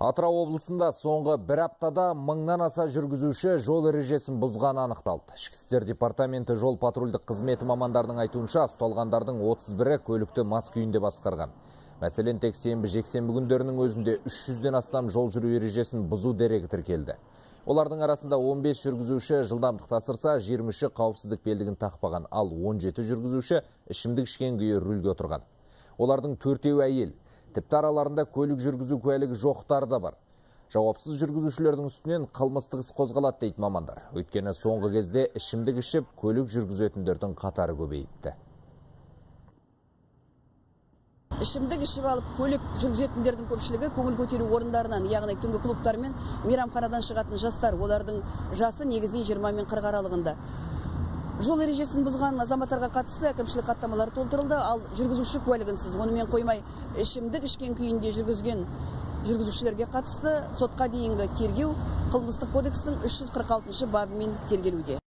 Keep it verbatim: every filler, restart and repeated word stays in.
Атырау облысында соңғы бір аптада мыңнан аса жүргізуші жол ережесін бұзғаны анықталды. Ішкі істер департаменті жол патрульдік қызметі мамандардың айтуынша, ұсталғандардың отыз бірі көлікті мас күйінде басқарған. Мәселен, тек сенбі жексенбі күндерінің өзінде үш жүзден астам жол жүру ережесін бұзу дерегі тіркелді. Олардың арасында он бес жүргізуші жылдамдықты асырса, жиырма үші қауіпсіздік белдігін тақпаған, ал он жеті жүргізуші ішімдік ішкен күйі рөлге отырған. Олардың төртеуі әйел. Тіпті араларында көлік жүргізу куәлігі жоқтары да бар. Жауапсыз жүргізушілердің үстінен қылмыстық іс қозғалады дейді мамандар. Өйткені соңғы кезде ішімдік ішіп көлік жүргізетіндердің қатары көбейіпті. Ішімдік ішіп алып көлік жүргізетіндердің көпшілігі көңіл көтеру орындарынан, яғни түнгі клубтар мен мейрамханадан шығатын жастар. Олардың жасы негізінен жиырма мен қырық аралығында. Жол ережесін бұзған азаматтарға қатысты әкімшілік хаттамалар толтырылды, ал жүргізуші куәлігінсіз, онымен қоймай ішімдік ішкен күйінде жүргізген жүргізушілерге қатысты сотқа дейінгі тергеу қылмыстық кодекстің үш жүз қырық алтыншы бабымен тергелуде.